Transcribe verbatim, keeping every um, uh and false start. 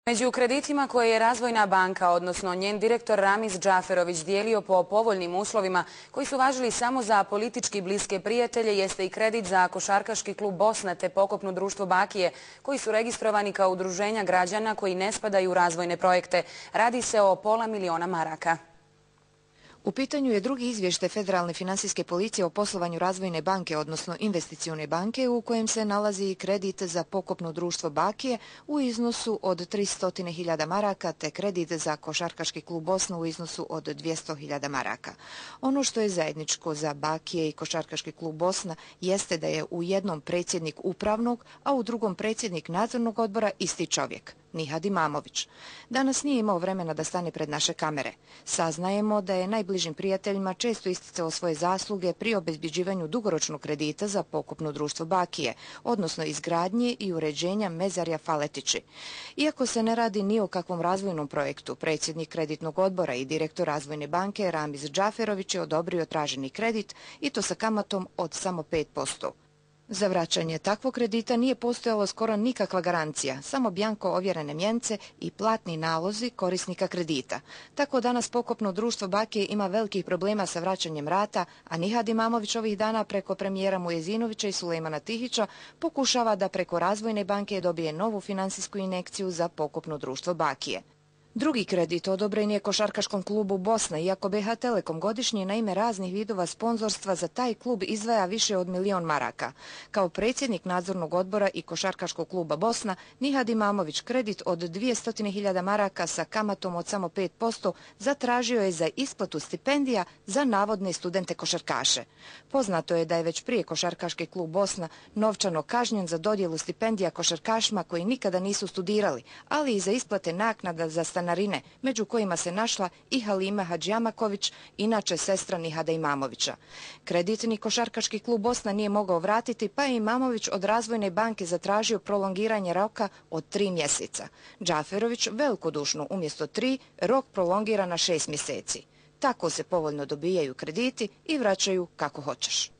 Među kreditima koje je Razvojna banka, odnosno njen direktor Ramiz Džaferović dijelio po povoljnim uslovima koji su važili samo za politički bliske prijatelje, jeste i kredit za košarkaški klub Bosna te pokopno društvo Bakije, koji su registrovani kao udruženja građana koji ne spadaju u razvojne projekte. Radi se o pola miliona maraka. U pitanju je drugi izvještaj Federalne financijske policije o poslovanju Razvojne banke, odnosno Investicione banke, u kojem se nalazi i kredit za pokopno društvo Bakije u iznosu od tristo hiljada maraka, te kredit za košarkaški klub Bosna u iznosu od dvjesto hiljada maraka. Ono što je zajedničko za Bakije i košarkaški klub Bosna jeste da je u jednom predsjednik upravnog, a u drugom predsjednik nadzornog odbora isti čovjek, Nihad Imamović. Danas nije imao vremena da stane pred naše kamere. Saznajemo da je najbližim prijateljima često isticao svoje zasluge pri obezbjeđivanju dugoročnog kredita za pokopno društvo Bakije, odnosno izgradnje i uređenja Mezarja Faletići. Iako se ne radi ni o kakvom razvojnom projektu, predsjednik kreditnog odbora i direktor Razvojne banke Ramiz Džaferović je odobrio traženi kredit i to sa kamatom od samo pet posto. Za vraćanje takvog kredita nije postojalo skoro nikakva garancija, samo bjanko ovjerene mjence i platni nalozi korisnika kredita. Tako danas pokopno društvo Bakije ima velikih problema sa vraćanjem rata, a Nihad Imamović ovih dana preko premijera Mujezinovića i Sulejmana Tihića pokušava da preko Razvojne banke dobije novu finansijsku injekciju za pokopno društvo Bakije. Drugi kredit odobren je košarkaškom klubu Bosna, iako B H Telekom godišnje na ime raznih vidova sponzorstva za taj klub izdvaja više od milion maraka. Kao predsjednik nadzornog odbora i košarkaškog kluba Bosna, Nihad Imamović kredit od dvjesto hiljada maraka sa kamatom od samo pet posto zatražio je za isplatu stipendija za navodne studente košarkaše. Poznato je da je već prije košarkaški klub Bosna novčano kažnjen za dodjelu stipendija košarkašima koji nikada nisu studirali, ali i za isplate naknada za stanarine, među kojima se našla i Halima Hadžijamaković, inače sestra Nihada Imamovića. Kreditni košarkaški klub Bosna nije mogao vratiti, pa je Imamović od Razvojne banke zatražio prolongiranje roka od tri mjeseca. Džaferović velikodušno umjesto tri rok prolongira na šest mjeseci. Tako se povoljno dobijaju krediti i vraćaju kako hoćeš.